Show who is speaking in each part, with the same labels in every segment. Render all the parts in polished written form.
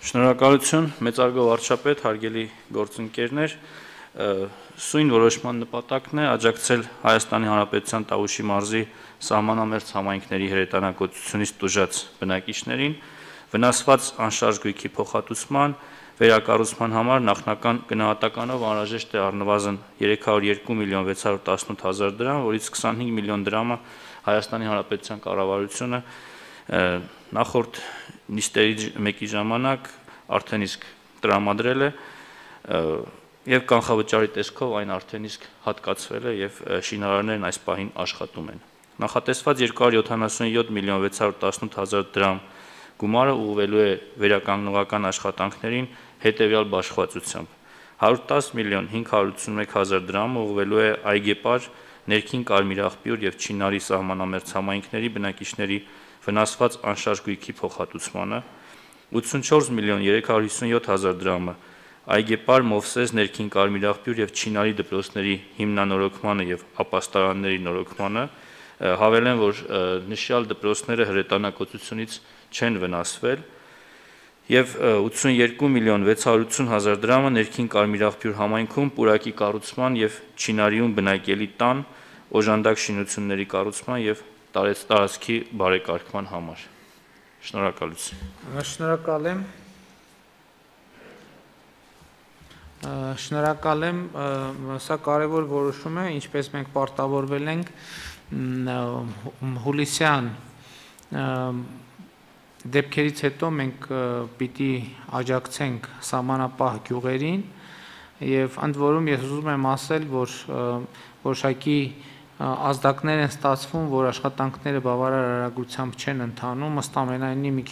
Speaker 1: Շնորհակալություն, մեծարգո վարչապետ, հարգելի գործընկերներ, սույն որոշման նպատակն է աջակցել Հայաստանի Հանրապետության Տավուշի մարզի սահմանամերձ համայնքների հրետանակոծությունից տուժած բնակիչներին վնասված անշարժ գույքի փոխհատուցման, վերակառուցման համար նախնական գնահատականով անհրաժեշտ է առնվազն 302 միլիոն 618 հազար դրամ, որից 25 միլիոն դրամը Հայաստանի Հանրապետության կառավարությունը նախորդ նիստերի մեկի ժամանակ արդեն իսկ տրամադրել է եւ կանխավճարի տեսքով այն արդեն իսկ հատկացվել է եւ շինարարներն այս պահին աշխատում են։ Նախատեսված 277 միլիոն 618 հազար դրամ գումարը ուղղվելու է վերականգնողական աշխատանքներին հետեւյալ բաշխվածությամբ. 110 միլիոն 581 հազար դրամ ուղղվելու է այգեպար, ներքին կարմիրաղբյուր եւ Չինարի սահմանամերձ համայնքների բնակիչների վնասված անշարժ գույքի փոխհատուցմանը, 84 միլիոն 357 հազար դրամը այգեպար, Մովսես, ներքին կարմիրաղբյուր եւ Չինարի դպրոցների հիմնանորոգմանը եւ ապաստարանների նորոգմանը, հավելեմ, որ նշյալ դպրոցները հրետանակոծությունից չեն վնասվել, եւ 82 միլիոն 680 հազար դրամը ներքին կարմիրաղբյուր համայնքում պուրակի կառուցման եւ Չինարիում բնակելի տան օժանդակ շինությունների կառուցման եւ տարածքի բարեկարգման համար։ Շնորհակալություն։
Speaker 2: Շնորհակալ եմ, սա կարևոր որոշում է, ինչպես մենք պարտավորվել ենք հուլիսյան դեպքերից հետո մենք պիտի աջակցենք սահմանապահ գյուղերին եւ ընդ որում ես ուզում եմ ասել, որ որոշակի ազդակներ են ստացվում, որ աշխատանքները բավարար արագությամբ չեն ընթանում, ըստ ամենայնի մի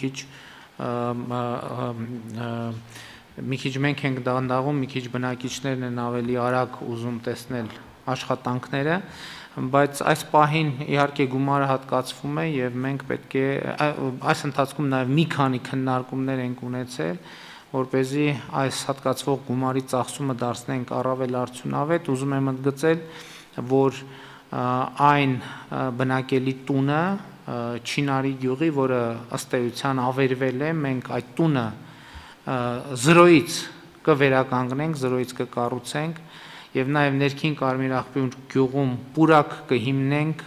Speaker 2: քիչ մենք ենք դանդաղում, մի քիչ բնակիչներն են ավելի արագ ուզում տեսնել աշխատանքները, բայց այս պահին իհարկե գումարը հատկացվում է եւ մենք պետք է այս ընթացքում նաեւ մի քանի քննարկումներ ենք ունեցել, որպեսզի այս հատկացվող գումարի ծախսումը դարձնենք առավել արդյունավետ, ուզում եմ ընդգծել, որ այն բնակելի տունը Չինարի գյուղի, որը ըստ էության ավերվել է, մենք այդ տունը 0-ից կվերականգնենք, 0-ից կկառուցենք եւ նաեւ ներքին կարմիրաղբյուր գյուղում պուրակ կհիմնենք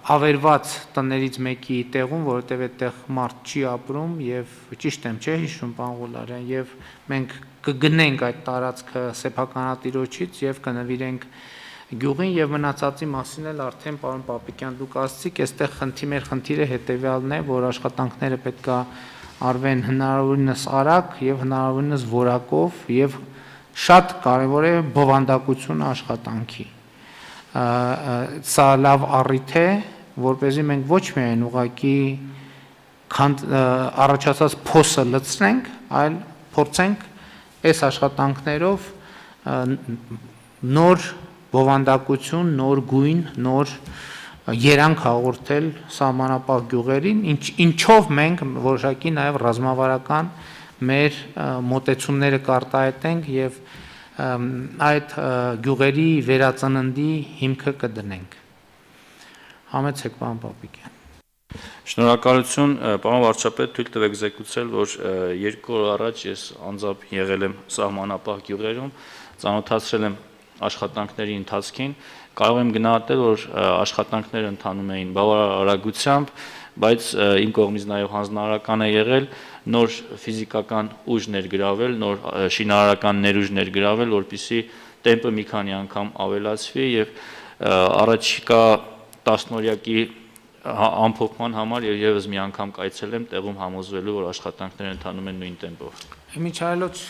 Speaker 2: ավերված տներից մեկի տեղում, որովհետեւ այդտեղ մարդ չի ապրում եւ ճիշտ եմ, չէ՞ հիշում, պարոն Ղուլարյան, եւ մենք կգնենք այդ տարածքը սեփականատիրոջից եւ կնվիրենք գյուղին եւ մնացածի մասին էլ արդեն պարոն Պապիկյան դուք ասացիք, այստեղ մեր խնդիրը հետեւյալն է, որ աշխատանքները պետքա արվեն հնարավորինս արագ եւ հնարավորինս որակով եւ շատ կարեւոր է բովանդակությունը աշխատանքի։ Սա լավ առիթ է, որպեսզի մենք ոչ միայն ուղղակի առաջացած փոսը լցնենք, այլ փորձենք այս աշխատանքներով նոր բովանդակություն, նոր գույն, նոր երանգ հաղորդել սահմանապահ գյուղերին, ինչով մենք որոշակի նաև ռազմավարական մեր մոտեցումները կարտահայտենք եւ այդ գյուղերի վերածննդի հիմքը կդնենք։ Համեցեք, պարոն Պապիկյան։
Speaker 1: Շնորհակալություն, պարոն վարչապետ, թույլ տվեք զեկուցել, որ 2 օր առաջ ես անձամբ եղել եմ սահմանապահ գյուղերում, ծանոթացրել եմ աշխատանքների ընթացքին, կարող եմ գնահատել, որ աշխատանքները ընթանում էին բավարար արագությամբ, բայց իմ կողմից նաև հանձնարարական է եղել նոր ֆիզիկական ուժ ներգրավել, նոր շինարարական ներուժ ներգրավել, որպեսզի տեմպը մի քանի անգամ ավելացվի եւ առաջիկա 10-օրյակի ամփոփման համար եւս մի անգամ կայցելեմ տեղում համոզվելու, որ աշխատանքները ընթանում են նույն տեմպով։
Speaker 2: Իմիջիայլոց